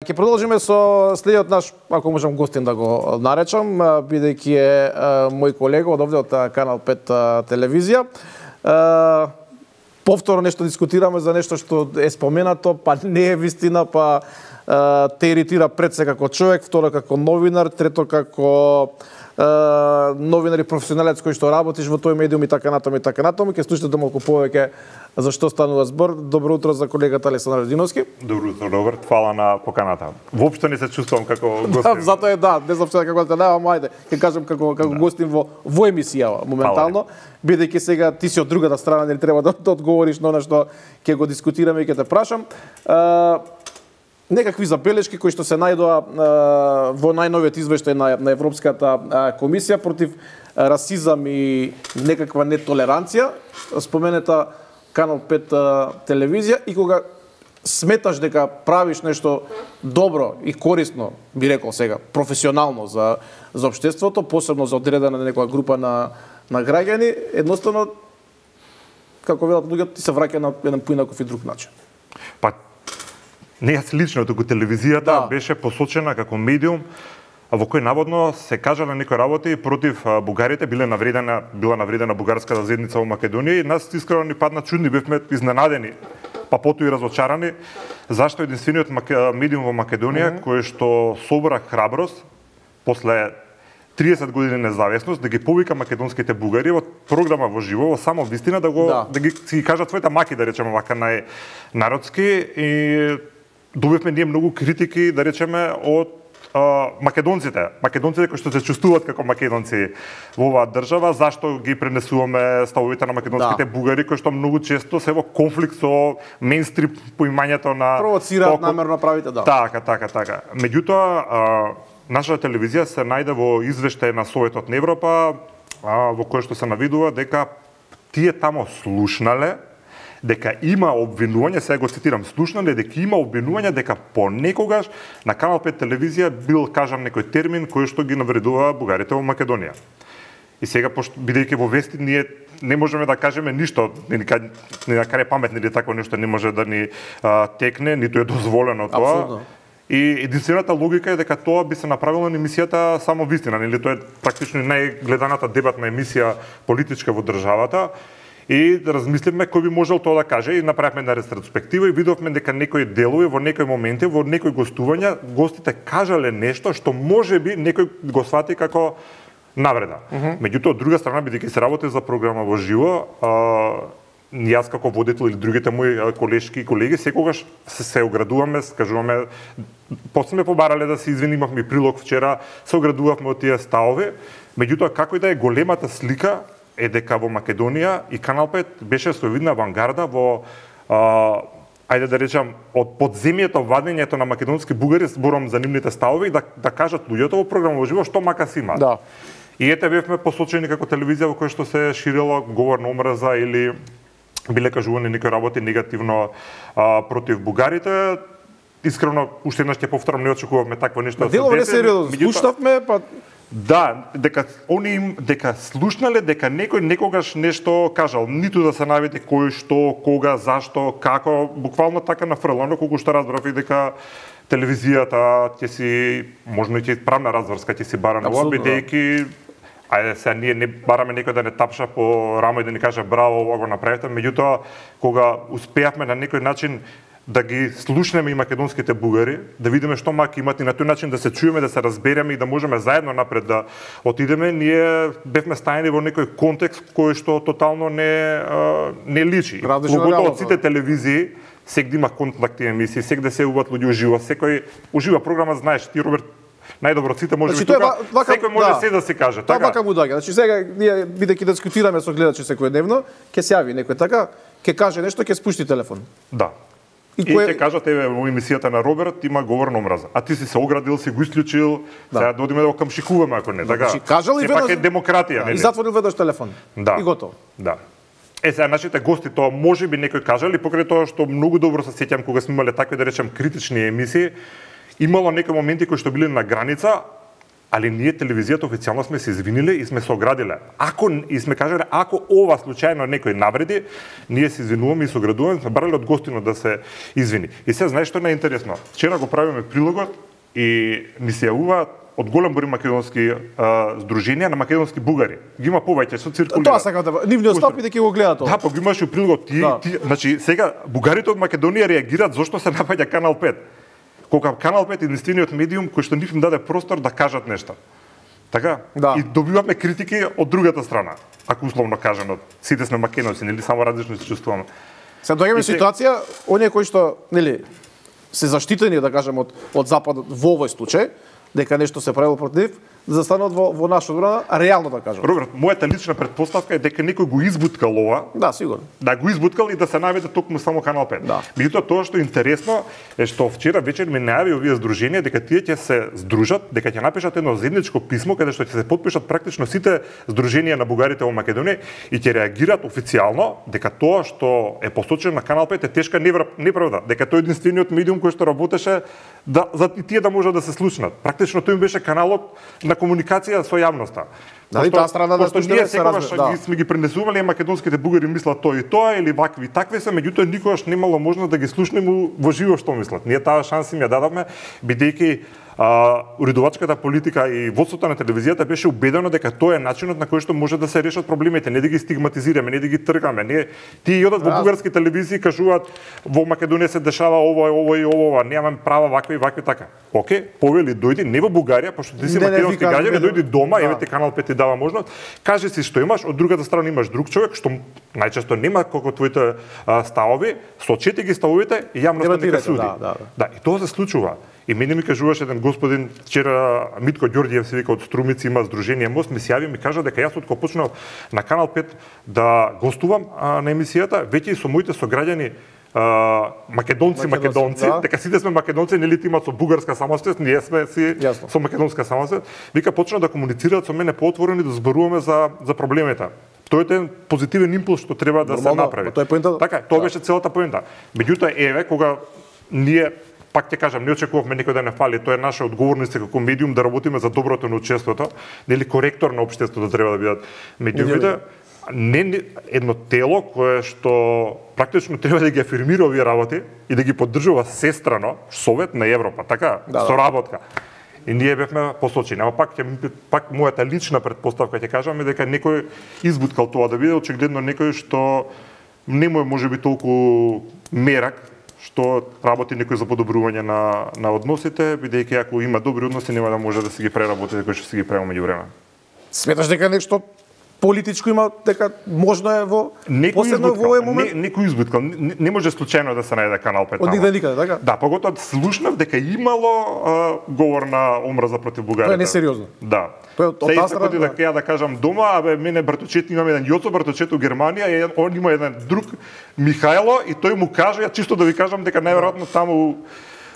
Ќе продолжиме со следниот наш, ако можам гостин да го наречам, бидејќи е мој колега од овде од Канал 5 телевизија. Повторно нешто дискутираме за нешто што е споменато, па не е вистина, па те иритира пред се како човек, второ како новинар, трето како новинар и професионалец кој што работиш во тој медиум и така натаму и така натаму. Ќе слушате малку повеќе за што станува збор. Добро утро за колегата Александар Радиновски. Добро утро, Роберт. Фала на поканата. Воопшто не се чувствувам како гостин. Затоа е не знам што како да немам, ајде, ќе кажам како гостин во емисија моментално, бидејќи сега ти си од другата страна, не треба да одговориш на она што ќе го дискутираме и ќе те прашам. Некакви забелешки кои што се најдоа во најновиот извештај на Европската комисија против расизам и некаква нетолеранција, споменета Канал 5 телевизија, и кога сметаш дека правиш нешто добро и корисно, би рекол сега, професионално за општеството, посебно за одредена некоја група на граѓани, едноставно, како велат луѓето, ти се враќа на еден поинаков и друг начин. Па, не јас лично, туку телевизијата беше посочена како медиум во кој наводно се кажале некои работи против бугарите, била навредена бугарската заедница во Македонија, и нас искрено ни падна чудни, бевме изненадени, па потоа и разочарани, зашто единствениот медиум во Македонија кој што собра храброст после 30 години независност да ги повика македонските бугари во програма во живо, во само вистина да ги си кажат своите маки, да речеме вака најнародски, и добивме ние многу критики, да речеме, од македонците кои што се чувствуваат како македонци во оваа држава, зашто ги пренесуваме ставовите на македонските бугари кои што многу често се во конфликт со мејнстрим поимањето на провоцираат намерно правите, Така. Меѓутоа, нашата телевизија се најде во извештај на Советот на Европа, во кој што се навидува дека тие тамо слушнале дека има обвинување, сега го цитирам, слушнале дека има обвинување дека понекогаш на Канал 5 телевизија бил кажан некој термин кој што ги навредува бугарите во Македонија. И сега, бидејќи во вести ние не можеме да кажеме ништо, ни на крај паметни или такво нешто не може да ни текне, ниту е дозволено тоа. Абсолютно. И единствената логика е дека тоа би се направило на емисијата само вистина, нели тоа е практично најгледаната дебатна емисија политичка во државата. И да размислиме кој би можел тоа да каже, и направивме една ретроспектива и видовме дека некои делови во некои моменти, во некои гостувања, гостите кажале нешто што можеби некој го свати како навреда. Меѓутоа, од друга страна, бидејќи се работи за програма во живо, јас како водител или другите мои колешки и колеги секогаш се оградуваме, кажуваме, после сме побарале да се извини, имавме прилог вчера, се оградувавме од тие ставови. Меѓутоа, како и да е, големата слика е дека во Македонија и Канал 5 беше со видна авангарда во, ајде да речам, од подземјето вадењето на македонски бугари, зборам за нивните ставови, да кажат луѓето во програма во живо што мака си има. Да. И ете бевме посочени како телевизија во која што се ширило говор на омраза или биле кажувани некои работи негативно против бугарите. Искрено, уште еднаш ќе повторам, не очекувавме такво нешто да се деси. Сериозно, слушнавме, па дека слушнале дека некој некогаш нешто кажал, ниту да се наведе кој, што, кога, зашто, како, буквално така нафрлано, колку што разбрав и дека телевизијата ќе си, можно и ќе правна разврска ќе си бара на ова, бидејќи ајде сега ние не бараме некој да не тапша по рамо и да ни каже браво, ова го направите, меѓутоа кога успеавме на некој начин да ги слушнеме и македонските бугари, да видиме што маки имат и на тој начин да се чуеме, да се разбереме и да можеме заедно напред да отидеме, ние бевме стајани во некој контекст кој што тотално не личи. Поготово од сите телевизии, сегде има контакти емисии, сегде се јавуваат луѓе уживо, секој ужива програма, знаеш, ти Роберт најдобро од сите може би тука, секој може се да се каже, така? Тоа вака му доаѓа. Значи сега ние бидејќи дискутираме со гледачи секојдневно, ќе се јави некој така, ќе каже нешто, ќе спушти телефон. Да. И ќе кажат, еве, во емисијата на Роберт има говор на омраза. А ти си се оградил, си го исклучил, сега да одиме да го камшикуваме ако не, така? Кажал и сепак е демократија, нели? И затворил веднаш телефон. Да. И готово. Да. Сега нашите гости тоа можеби некој кажали, покрај тоа што многу добро се сеќам кога сме имале такви, да речем, критични емисии, имало некои моменти кои што биле на граница, али ние телевизијата официјално сме се извиниле и сме се оградиле. И сме кажале, ако ова случајно некој навреди, ние се извинуваме и се оградуваме, сме барали од гостино да се извини. И се знаеш што е најинтересно. Вчера го правиме прилогот и ни се јавуваат од голем број македонски здруженија на македонски бугари. Ги има повеќе што циркулира. Тоа сакам да нивниот стап и да ќе го гледаат тоа. Да, па ги имаш и прилогот значи сега бугарите од Македонија реагираат зошто се напаѓа Канал 5. Кога Канал 5 е единствениот медиум кој што нив им даде простор да кажат нешто. Така? Да. И добиваме критики од другата страна. Ако условно кажано, сите сме македонци, нели само различно се чувствуваме. Се доаѓаме ситуација, оние кои што, нели, се заштитени, да кажем, од Западот во овој случај, дека нешто се правило против нив, да застанат во наша одбрана, реално да кажам. Роберт, мојата лична претпоставка е дека некој го избуткал ова. Да, сигурно. Да го избуткал и да се наведе токму само Канал 5. Да. Меѓутоа тоа што е интересно е што вчера вечер ми најави овие здруженија дека тие ќе се здружат, дека ќе напишат едно заедничко писмо каде што ќе се потпишат практично сите здруженија на бугарите во Македонија и ќе реагираат официјално дека тоа што е посочено на Канал 5 е тешка неправда, дека тој е единствениот медиум кој што работеше за тие да можат да се слушнат. Практично тој им беше каналот на комуникација со јавноста. Дали таа страна да ние секогаш сме ги пренесувале македонските бугари мислат тоа и тоа или вакви и такви се, меѓутоа никогаш немало можност да ги слушнеме во живо што мислат. Ние таа шанса им ја дадовме бидејќи уредувачката политика и водството на телевизијата беше убедено дека тоа е начинот на кој што може да се решат проблемите, не да ги стигматизираме, не да ги тргаме. Тие одат во бугарски телевизии кажуваат во Македонија се дешава ова и ова, немаме права вакви и вакви така. Океј, повели дојди не во Бугарија, пошто ти си македонски граѓанин, дојди дома, еве ти Канал 5 ти дава можност, кажи си што имаш, од другата страна имаш друг човек што најчесто нема колку твоите ставови, сочети ги ставовите и јавноста нека суди. Да, и тоа се случува. И мене ми кажуваше еден господин вчера, Митко Ѓорѓиев се вика од Струмици, има здружение Мост, ми се јави ми кажа дека јас од кога почнав на Канал 5 да гостувам на емисијата, веќе и со моите сограѓани македонци, да. Дека сите сме македонци, нели имаат со бугарска самосвест, ние сме си со македонска самосвест. Вика почна да комуницираат со мене поотворено да зборуваме за проблемите. Тоа е еден позитивен импулс што треба да се направи. Така, тоа беше целата поента. Меѓутоа еве кога ние пак ќе кажам, не очекувавме некој да не фали, тоа е наша одговорност како медиум да работиме за доброто на општеството, нели коректор на општеството треба да бидат медиумите. Не едно тело кое што практично треба да ги афирмира овие работи и да ги поддржува сестрано Совет на Европа, така, соработка. И ние бевме посочени. Ама пак мојата лична претпоставка ќе кажам е дека некој избуткал тоа да биде очигледно некој што не му е можеби толку мерак што работи некој за подобрување на односите, бидејќи ако има добри односи нема да може да се ги преработи кој што се ги правил меѓувреме. Сметаш дека нешто политичко има, дека можно е во последно во овој момент? Некој избуткал, не може случајно да се најде Канал 5 таму. Од никаде, така? Да, поготоа слушнав дека имало говор на омраза против бугарите. Тоа е несериозно. Да. Тоа е дека ја да кажам дома, абе мене браточет имам еден Јоцо браточет у Германија, и он има еден друг Михајло и тој му каже, ја чисто да ви кажам дека најверојатно таму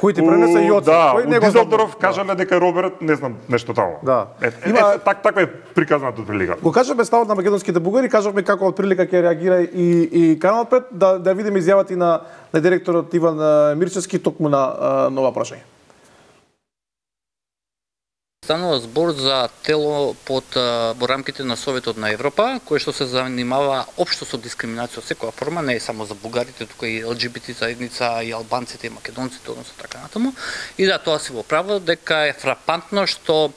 кој ти пренесе Јоцо, кој него Дизелдорф кажале дека Роберт не знам нешто таму. Да. Таква е приказната прилика. Го кажаме ставот на македонските бугари, кажавме како од прилика ќе реагира и Канал 5, да видиме изјавата и на директорот Иван Мирчевски токму на нова прашање. Станува збор за тело во рамките на Советот на Европа, кој што се занимава општо со дискриминација од секоја форма, не е само за бугарите, туку и ЛГБТ заедница, и албанците, и македонците, односно така натаму. И да, тоа си во право, дека е фрапантно што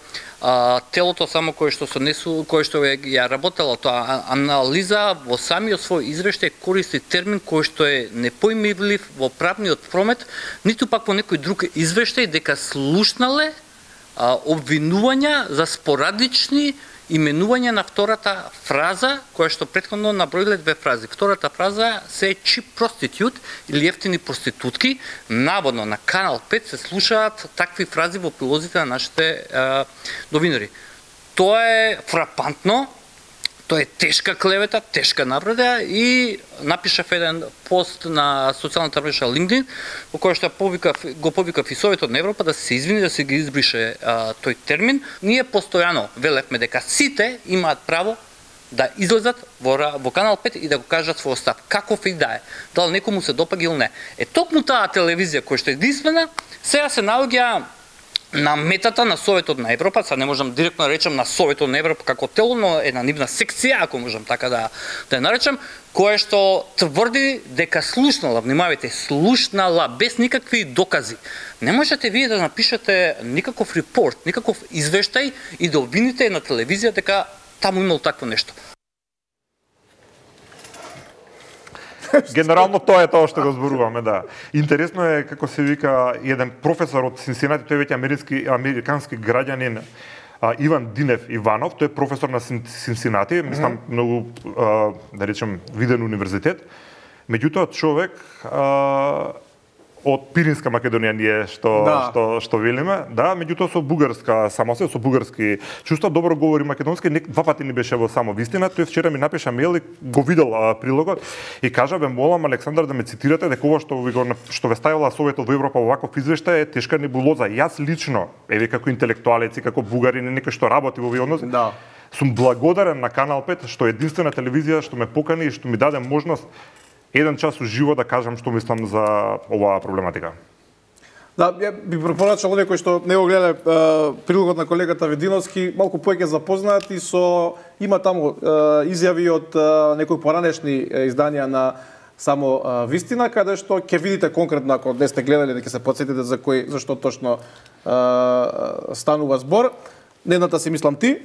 телото само кој што ја работела тоа анализа во самиот свој извештај користи термин кој што е непоимлив во правниот промет, ниту пак во некој друг извештај дека слушнале обвинувања за спорадични именување на втората фраза, која што претходно наброиле две фрази. Втората фраза се cheap prostitute или ефтини проститутки. Наводно на Канал 5 се слушаат такви фрази во прилозите на нашите новинари. Тоа е фрапантно, тоа е тешка клевета, тешка навреда и напишав еден пост на социјалната мрежа LinkedIn во кој што го повикав и Советот на Европа да се извини, да се ги избрише тој термин. Ние постојано велевме дека сите имаат право да излезат во Канал 5 и да го кажат својот став, каков и да е, дали некому се допаѓа или не. Токму таа телевизија која што е единствена, сега се наоѓа на метата на Советот на Европа, сега не можам директно да речем на Советот на Европа како тело, но една нивна секција, ако можам така да ја наречем, кое што тврди дека слушнала, внимавајте, слушнала без никакви докази. Не можете вие да напишете никаков репорт, никаков извештај и да обвините на телевизија дека таму имало такво нешто. Генерално тоа е тоа што го зборуваме, да. Интересно е како се вика еден професор од Синсинати, тој веќе американски граѓанин, Иван Динев Иванов, тој е професор на Синсинати, мислам многу да речем виден универзитет. Меѓутоа човек од Пиринска Македонија ние што велиме, да, меѓутоа со бугарска самосвест, со бугарски чувства, добро говори македонски, два пати ни беше во Само вистина, тој вчера ми напиша мејл и го видел прилогот и кажа бе молам Александар да ме цитирате дека ова што ве ставила Советот во Европа во ваков извештај е тешка небулоза. Јас лично, еве како интелектуалец и како бугарин и некој што работи во овие односи, Да. Сум благодарен на Канал 5 што е единствена телевизија што ме покани и што ми даде можност еден час уживо да кажам што мислам за оваа проблематика. Да, ја би препорачал овие кои што не го гледале прилогот на колегата Вединовски, малку повеќе запознаат и со има таму изјави од некои поранешни изданија на Само вистина, каде што ќе видите конкретно ако не сте гледале, дека се потсетите за зашто точно станува збор. Едната си мислам ти.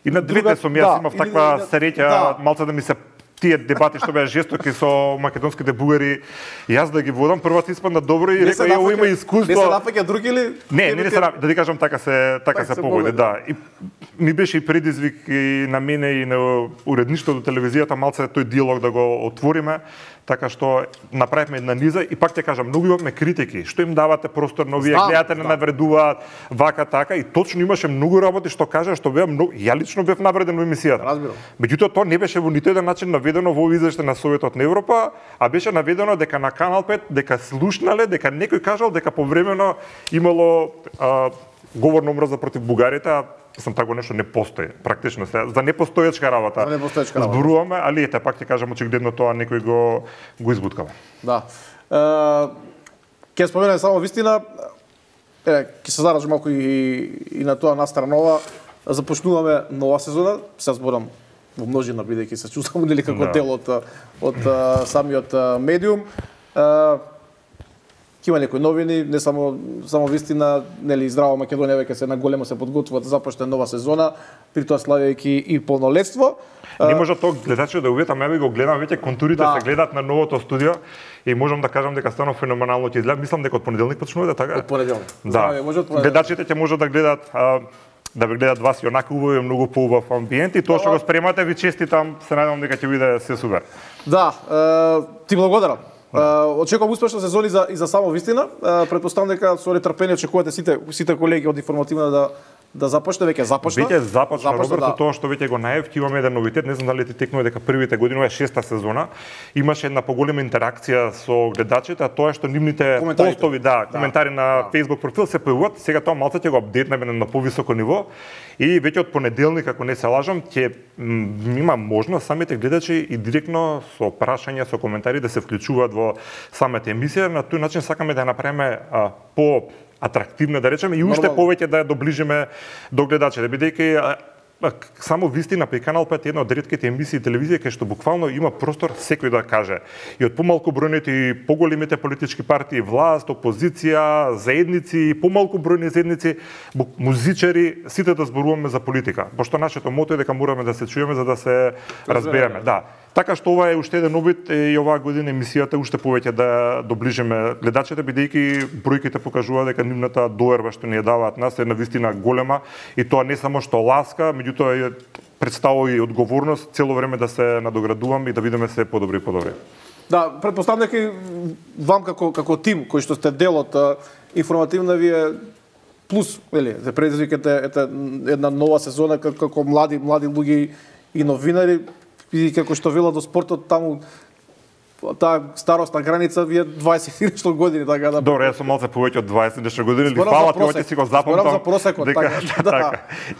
И на двете сум јас имав таква среќа, малце да ми се тие дебати што беа жестоки со македонските бугари, јас да ги водам, првата испадна добро и рекол ја има искуство. Не се нафаќа други или? Не се да ти кажам така се погоди, да. И ми беше и предизвик и на мене и на уредништвото телевизијата малце тој диалог да го отвориме. Така што направивме една низа и пак ќе кажам, многу имавме критики, што им давате простор на овие гледате не навредуваат вака така и точно имаше многу работи што кажа што беа многу ја лично бев навреден во емисијата. Разбирам. Меѓутоа тоа не беше во ниту еден начин наведено во извештај на Советот на Европа, а беше наведено дека на Канал 5 дека слушнале, дека некој кажал дека повремено имало говорна омраза против бугарите, сам тако нешто не постои, практично се за непостоечка работа. За непостоечка работа. Зборуваме, али ете пак ќе кажам очигледно тоа некој го избуткава. Да. Ќе споменам само вистина, ќе се заражам малку и на тоа настранова. Започнуваме нова сезона, се зборам во множина бидејќи се чувствам нели како дел од самиот медиум. Има некои новини, не само вистина, нели Здрава Македонија веќе се на големо се подготвува да започне нова сезона, при тоа славејќи и полнолетство. Не може тоа гледачи да уветам, ја го гледам веќе контурите се гледаат на новото студио и можам да кажам дека станува феноменално ќе изгледа. Мислам дека од понеделник почнува така. Од понеделник. Да. Гледачите ќе можат да гледаат да ве гледат вас и онака убаво, многу поубав амбиент и тоа што го спремате ви честитам, се надевам дека ќе биде се супер. Да, ти благодарам. Очекувам успешна сезона и за Само вистина. Претпоставам дека со нетрпение очекувате сите колеги од информативна да започне, веќе започна. Веќе започна, Роберто, тоа што веќе го најав, ќе имаме еден новитет, не знам дали ти текнува дека првите години, ова е 6-та сезона, имаше една поголема интеракција со гледачите, а тоа е што нивните постови, коментари на Facebook профил се појавуваат, сега тоа малце ќе го апдейтнеме на повисоко ниво и веќе од понеделник, ако не се лажам, ќе има можност самите гледачи и директно со прашања, со коментари да се вклучуваат во самата емисија, на тој начин сакаме да ја направиме по атрактивна, да речеме, и уште повеќе да ја доближиме до гледачите, бидејќи Само вистина при Канал 5 е една од ретките емисии телевизија кај што буквално има простор секој да каже. И од помалку бројните и поголемите политички партии, власт, опозиција, заедници, помалку бројни заедници, музичари, сите да зборуваме за политика. Пошто нашето мото е дека мораме да се чуеме за да се разбереме. Да. Така што ова е уште еден обид и оваа година емисијата уште повеќе да доближиме гледачите, бидејќи бројките покажуваат дека нивната доверба што ни ја даваат нас е навистина голема и тоа не само што ласка, меѓутоа представува и одговорност цело време да се надоградуваме и да видиме се подобри и подобри. Да, претпоставам дека и вам како тим кој што сте дел од информативна вие плюс, вели, се предизвикате една нова сезона како млади луѓе и новинари и како што велат до спортот таму таа старосна граница ви е 20 нешто години, така да. Добро, јас сум малце повеќе од 20 нешто години, или фала ти оќе си го запомнам. Зборам за просекот, така.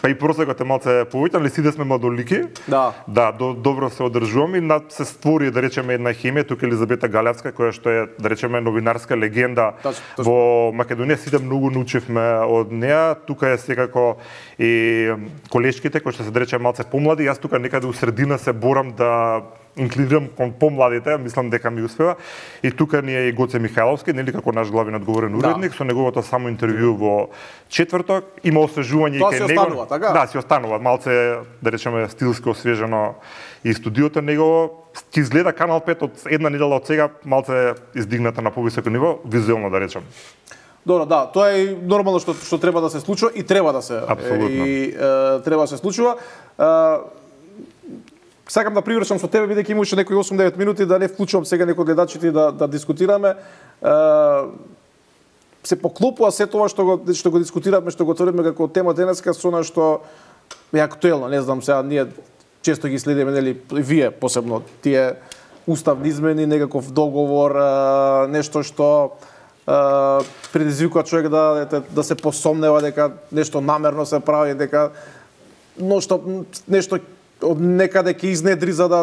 Па и просекот е малце повеќе, али сите сме младолики. Да. Да, добро се одржуваме и се створи, да речеме, една хемија тука Елизабета Галевска, која што е, да речеме, новинарска легенда во Македонија. Сите многу научивме од неа. Тука е секако и колешките кои што се, да речеме, малце помлади. Јас тука некаде у средина се борам да инклинирам кон помладите, мислам дека ми успева. И тука ни е и Гоце Михајловски, нели како наш главен одговорен уредник, со неговото само интервју во четврток. Има освежување и кај него. Тоа си останува, така? Да, си останува. Малце, да речеме, стилски освежено и студиото негово. Ти изгледа Канал 5 од една недела од сега малце издигната на повисоко ниво, визуелно да речем. Добро, да, тоа е нормално што треба да се случува и треба да се. Апсолутно. И треба да се случува. Сакам да привршам со тебе, бидејќи имаше некои 8-9 минути, да не вклучувам сега некои гледачите да дискутираме. Се поклопува се тоа што го дискутиравме, што го отворивме како тема денеска со она што е актуелно. Не знам, сега ние често ги следиме, нели, вие посебно, тие уставни измени, некаков договор, нешто што предизвикува човек да се посомнева дека нешто намерно се прави, дека нешто од некаде ќе изнедри за да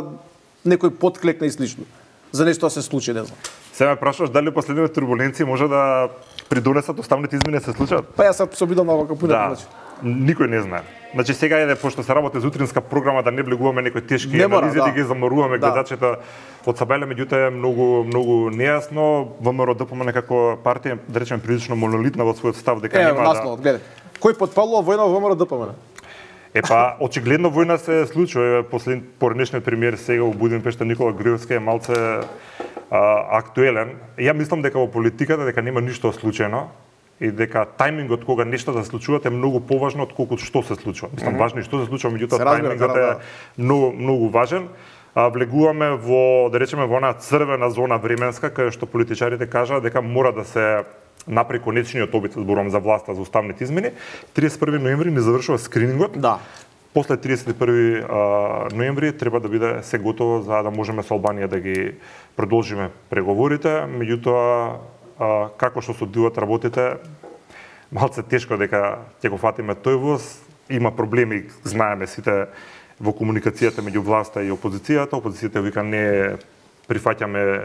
некој подклекне и слично. За нешто се случи, не знам. Се ме прашуваш дали последните турбуленции може да придонесат уставните измени да се случат? Па јас се обидам на вака пунет, значи. Никој не знае. Значи сега е пошто се работи за утринска програма да не влегуваме некои тешки анализи, да ги заморуваме гледачите од Сабеле, меѓутоа е многу нејасно. ВМРО ДПМН како партија, да речеме, прилично монолитна во својот став дека нема насловот, гледај. Кој потпалува војна во ВМРО ДПМН? Епа, очигледно војна се случува. Поредишниот премиер сега во Будимпешта Никола Груевски е малце актуелен. Ја мислам дека во политиката дека нема ништо случајно и дека тајмингот кога нешто да се случуваат е многу поважно отколку што се случува. Мислам важно и што се случува, меѓутоа тајмингот е многу важен. Влегуваме во, да речеме, во она црвена зона временска кај што политичарите кажаат дека мора да се напри конечниот обид, зборувам за власта, за уставните измени. 31 ноември не завршува скринингот. Да. После 31 ноември треба да биде се готово за да можеме со Албанија да ги продолжиме преговорите. Меѓутоа, како што се одвиваат работите, малце тешко дека ќе го фатиме тој воз. Има проблеми, знаеме сите, во комуникацијата меѓу власта и опозицијата. Опозицијата вика не прифаќаме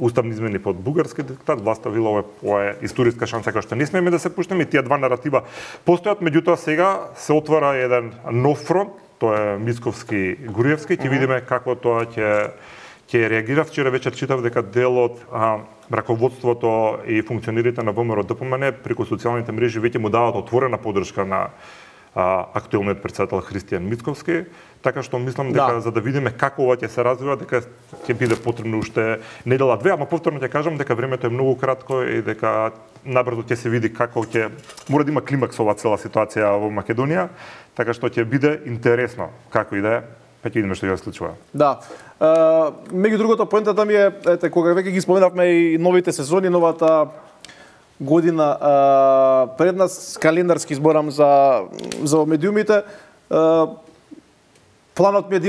уставни измени под бугарски диктат, власта вела ова е историска шанса која што не смееме да се пуштиме и тие два наратива постојат, меѓутоа сега се отвара еден нов фронт, тоа е Мицковски-Груевски, ќе видиме како тоа ќе реагира. Вчера вечер читав дека дел од раководството и функционерите на ВМРО ДПМН преку социјалните мрежи веќе му даваат отворена поддршка на актуелниот претседател Христијан Мицковски, така што мислам дека за да видиме како ова ќе се развива, дека ќе биде потребно уште недела-две, ама повторно ќе кажам дека времето е многу кратко и дека набрзо ќе се види како ќе мора да има климакс ова цела ситуација во Македонија, така што ќе биде интересно како и да е, па ќе видиме што ќе се случува. Да. Меѓу другото, поентата ми е, ете, кога веќе ги споменавме и новите сезони, новата година пред нас, календарски зборам за медиумите, планот ми е да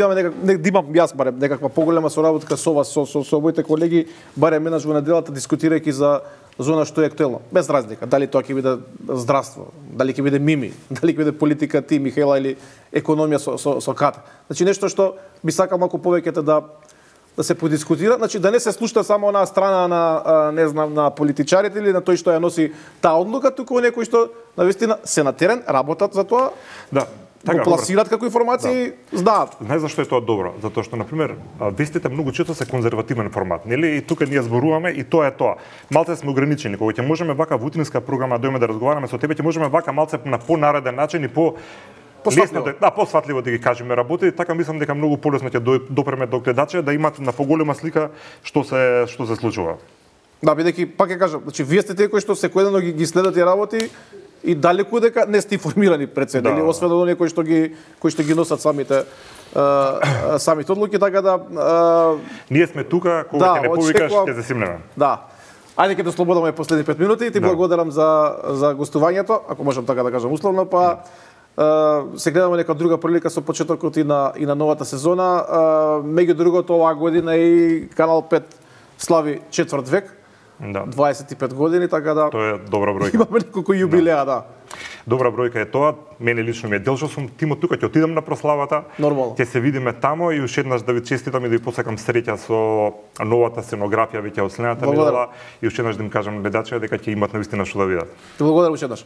имам јас барем некаква поголема соработка со вас, со моите колеги, барем менаш во неделата дискутирајќи за зона што е актуелно. Без разлика, дали тоа ќе биде здравство, дали ќе биде Мими, дали ќе биде политика ти, Михаела, или економија со Ката. Значи нешто што би сакал малку повеќе да се подискутира, значи да не се слушна само на страна на не знам на политичарите или на тој што ја носи таа одлука, туку некои што навистина се на терен, работат за тоа. Да. Така, го пласираат како информации, знаат. Знаеш зашто е тоа добро? Затоа што, например, вестите многу често се конзервативен формат, нели? И тука ние зборуваме и тоа е тоа. Малце сме ограничени. Кога ќе можеме вака во утринска програма дојме да разговараме со тебе, ќе можеме вака малце на понареден начин и посватливо да ги кажеме работи, така мислам дека многу полесно ќе допреме до гледача да имат на поголема слика што се случува. Да, бидејќи пак ќе кажам, значи вие сте тие кои што секојдневно ги следат и работи и далеку дека не сте информирани пред се, или освен од оние кои што ги носат самите одлуки, така да ние сме тука кога ќе не повикаш ќе се симнеме. Да. Ајде ќе да слободаме последни 5 минути и ти благодарам за гостувањето, ако можам така да кажам условно, па се гледаме нека друга прилика со почетокот и на новата сезона. Меѓу другото, оваа година и Канал 5 слави четврт век, 25 години, така да тоа е добра бројка. Имаме неколку јубилеа, да. Добра бројка е тоа. Мене лично ми е дел што сум тимот тука, ќе отидам на прославата. Нормално. Ќе се видиме тамо и уште еднаш да ви честитам и да ви посакам среќа со новата сценографија веќе од следната недела и уште еднаш да им кажам гледачите дека ќе имат навистина што да видат. Благодарам уште еднаш.